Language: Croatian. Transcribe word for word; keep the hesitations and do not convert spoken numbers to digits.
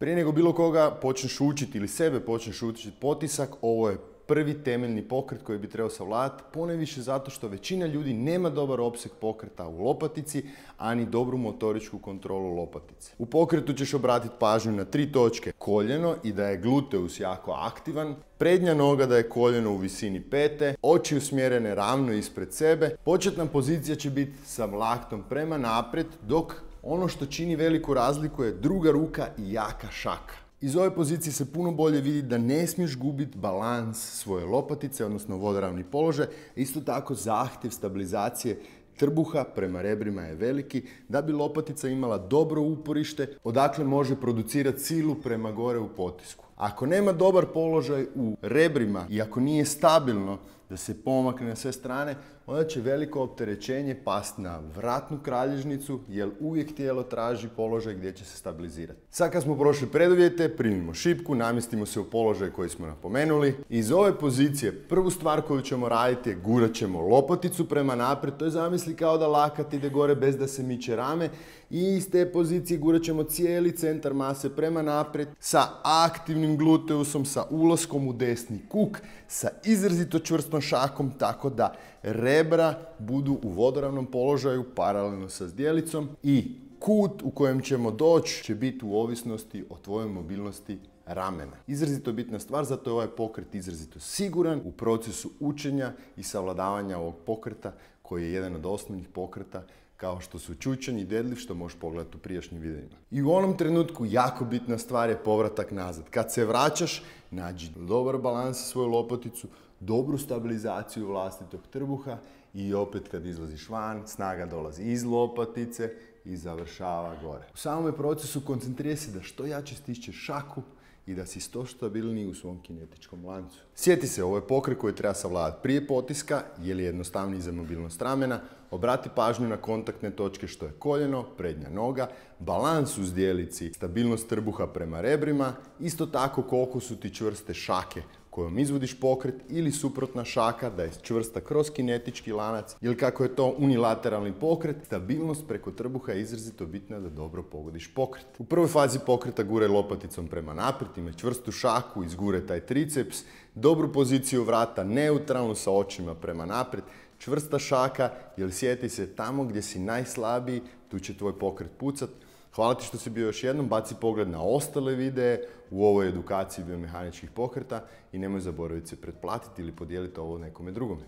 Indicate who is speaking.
Speaker 1: Prije nego bilo koga počneš učiti ili sebe počneš učiti potisak, ovo je prvi temeljni pokret koji bi trebao savladati, ponajviše zato što većina ljudi nema dobar opseg pokreta u lopatici, ani dobru motoričku kontrolu lopatice. U pokretu ćeš obratiti pažnju na tri točke. Koljeno i da je gluteus jako aktivan, prednja noga da je koljeno u visini pete, oči usmjerene ravno ispred sebe. Početna pozicija će biti sa laktom prema naprijed, dok ono što čini veliku razliku je druga ruka i jaka šaka. Iz ove pozicije se puno bolje vidi da ne smiješ gubiti balans svoje lopatice, odnosno vodoravni položaj. Isto tako zahtjev stabilizacije trbuha prema rebrima je veliki da bi lopatica imala dobro uporište odakle može producirati silu prema gore u potisku. Ako nema dobar položaj u rebrima i ako nije stabilno da se pomakne na sve strane, onda će veliko opterećenje pasti na vratnu kralježnicu, jer uvijek tijelo traži položaj gdje će se stabilizirati. Sad kad smo prošli preduvjete, primimo šipku, namjestimo se u položaj koji smo napomenuli. Iz ove pozicije prvu stvar koju ćemo raditi je gurat ćemo lopaticu prema naprijed, to je zamisli kao da lakat ide gore bez da se miče rame, i iz te pozicije gurat ćemo cijeli centar mase prema naprijed sa aktivnim gluteusom, sa ulaskom u desni kuk, sa izrazito čvrstom šakom, tako da rebra budu u vodoravnom položaju paralelno sa zdjelicom i kut u kojem ćemo doći će biti u ovisnosti o tvojoj mobilnosti ramena. Izrazito bitna stvar, zato je ovaj pokret izrazito siguran u procesu učenja i savladavanja ovog pokreta koji je jedan od osnovnih pokreta kao što su čučanj i deadlift, što možeš pogledati u prijašnjim videima. I u onom trenutku jako bitna stvar je povratak nazad. Kad se vraćaš, nađi dobar balans sa svoju lopaticu, dobru stabilizaciju vlastitog trbuha i opet kad izlaziš van, snaga dolazi iz lopatice i završava gore. U samome procesu koncentrira se da što jače stišćeš šaku i da si što stabilniji u svom kinetičkom lancu. Sjeti se, ovo je pokret koji treba savladati prije potiska, jer je jednostavniji za mobilnost ramena. Obrati pažnju na kontaktne točke što je koljeno, prednja noga, balans u zdjelici, stabilnost trbuha prema rebrima, isto tako koliko su ti čvrste šake kojom izvodiš pokret ili suprotna šaka da je čvrsta kroz kinetički lanac, ili kako je to unilateralni pokret, stabilnost preko trbuha je izrazito bitna da dobro pogodiš pokret. U prvoj fazi pokreta guraj lopaticom prema naprijed, imaj čvrstu šaku, izguraj taj triceps, dobru poziciju vrata, neutralnu sa očima prema naprijed, čvrsta šaka, jer sjeti se tamo gdje si najslabiji, tu će tvoj pokret pucat. Hvala ti što si bio još jednom, baci pogled na ostale videe u ovoj edukaciji biomehaničkih pokreta i nemoj zaboraviti se pretplatiti ili podijeliti ovo nekome drugome.